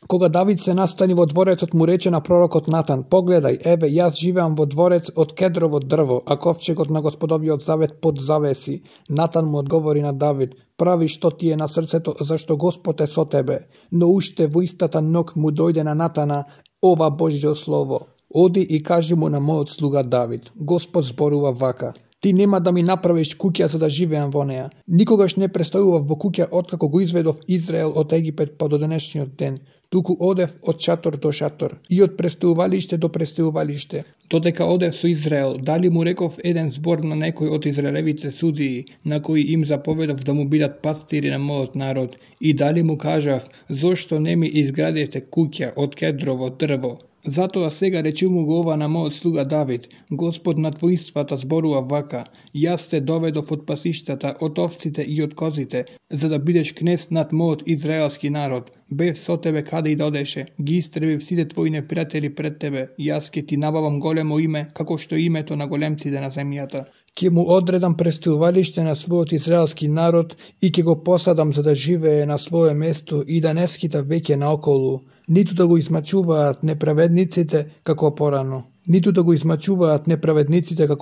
Кога Давид се настани во дворецот, му рече на пророкот Натан: погледај, еве, јас живеам во дворец од кедрово дрво, а ковчегот на Господовиот завет под завеси. Натан му одговори на Давид: прави што ти е на срцето, зашто Господ е со тебе. Но уште во истата ног му дојде на Натана ова Божјо слово: оди и кажи му на мојот слуга Давид, Господ зборува вака: ти нема да ми направиш куќа за да живеам во неа. Никогаш не престојував во куќа откако го изведов Израел од Египет па до денешниот ден. Туку одев од шатор до шатор и од престојувалиште до престојувалиште. Додека одев со Израел, дали му реков еден збор на некој од израелевите судии, на кои им заповедав да му бидат пастири на мојот народ, и дали му кажав: зошто не ми изградите куќа од кедрово дрво? Затоа сега речи му го ова на мојот слуга Давид: Господ над воинствата зборува вака: јас те доведов од пасиштата, од овците и од козите, за да бидеш кнез над мојот израелски народ. Бев со тебе каде и да одеше, ги истребив сите твои непријатели пред тебе. Јас ќе ти набавам големо име, како што е името на големците на земјата. Ќе му одредам престојувалиште на својот израелски народ и ќе го посадам за да живее на свое место и да не скита веќе наоколу, ниту да го измачуваат неправедниците како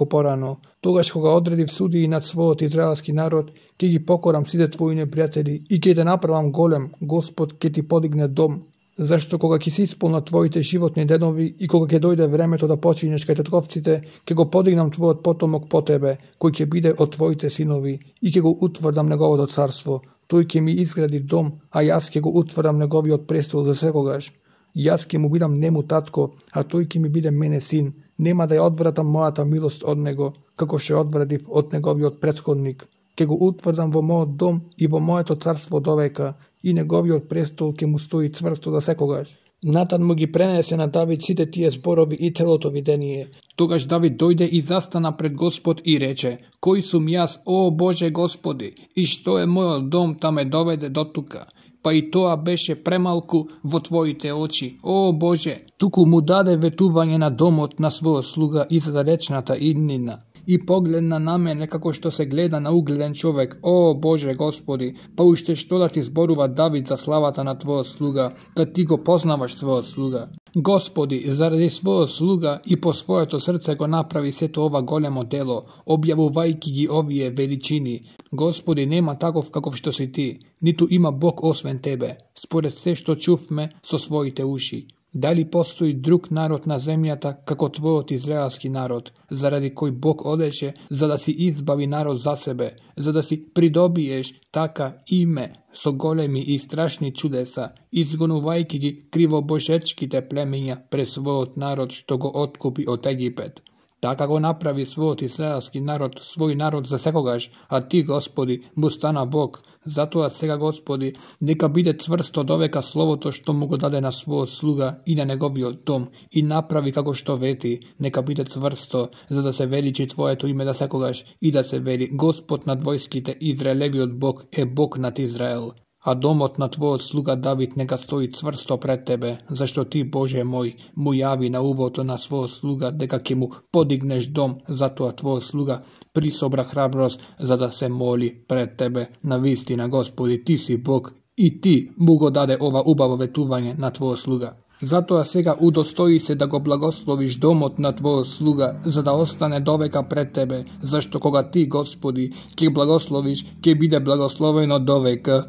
порано. Тогаш кога одредив судии над својот израелски народ, ќе ги покорам сите твои непријатели и ќе те направам голем. Господ ќе ти подигне дом. Зашто кога ќе се исполнат твоите животни денови и кога ќе дојде времето да починеш кај татковците, ќе го подигнам твојот потомок по тебе, кој ќе биде од твоите синови, и ќе го утврдам неговото царство. Тој ќе ми изгради дом, а јас ќе го утврдам неговиот престол за секогаш. Јас ќе му бидам нему татко, а тој ќе ми биде мене син. Нема да ја одвратам мојата милост од него, како што ја одвратив од неговиот претходник. Ќе го утврдам во мојот дом и во моето царство довека, и неговиот престол ќе му стои цврсто за секогаш. Натан му ги пренесе на Давид сите тие зборови и целото видение. Тогаш Давид дојде и застана пред Господ и рече: кој сум јас, о Боже Господи, и што е мојот дом та ме доведе до тука? Па и тоа беше премалку во твоите очи, о Боже. Туку му даде ветување на домот на својот слуга и за далечната иднина. И погледна на мене како што се гледа на угледен човек, о Боже Господи, па уште што да ти зборува Давид за славата на твојот слуга, кад ти го познаваш својот слуга. Господи, заради својот слуга и по своето срце го направи сето ова големо дело, објавувајќи ги овие величини. Господи, нема таков каков што си ти, ниту има Бог освен тебе, според се што чувме со своите уши. Дали постои друг народ на земјата како твојот израелски народ, заради кој Бог одеше за да си избави народ за себе, за да си придобиеш така име со големи и страшни чудеса, изгонувајќи ги кривобожечките племења пред својот народ што го откупи од Египет. Така го направи својот израелски народ, свој народ за секогаш, а ти, Господи, му стана Бог. Затоа сега, Господи, нека биде цврсто довека словото што му го даде на својот слуга и на неговиот дом, и направи како што вети, нека биде цврсто, за да се величи Твоето име за секогаш и да се вели: Господ над војските, Израелевиот Бог е Бог над Израел. А домот на твојот слуга Давид нека стои цврсто пред тебе, зашто ти, Боже мој, му јави на убото на својот слуга дека ќе му подигнеш дом, затоа твојот слуга присобра храброст за да се моли пред тебе. На вистина, Господи, ти си Бог и ти му го даде ова убаво ветување на твојот слуга. Затоа сега удостои се да го благословиш домот на твојот слуга, за да остане довека пред тебе, зашто кога ти, Господи, ќе благословиш, ќе биде благословено довека.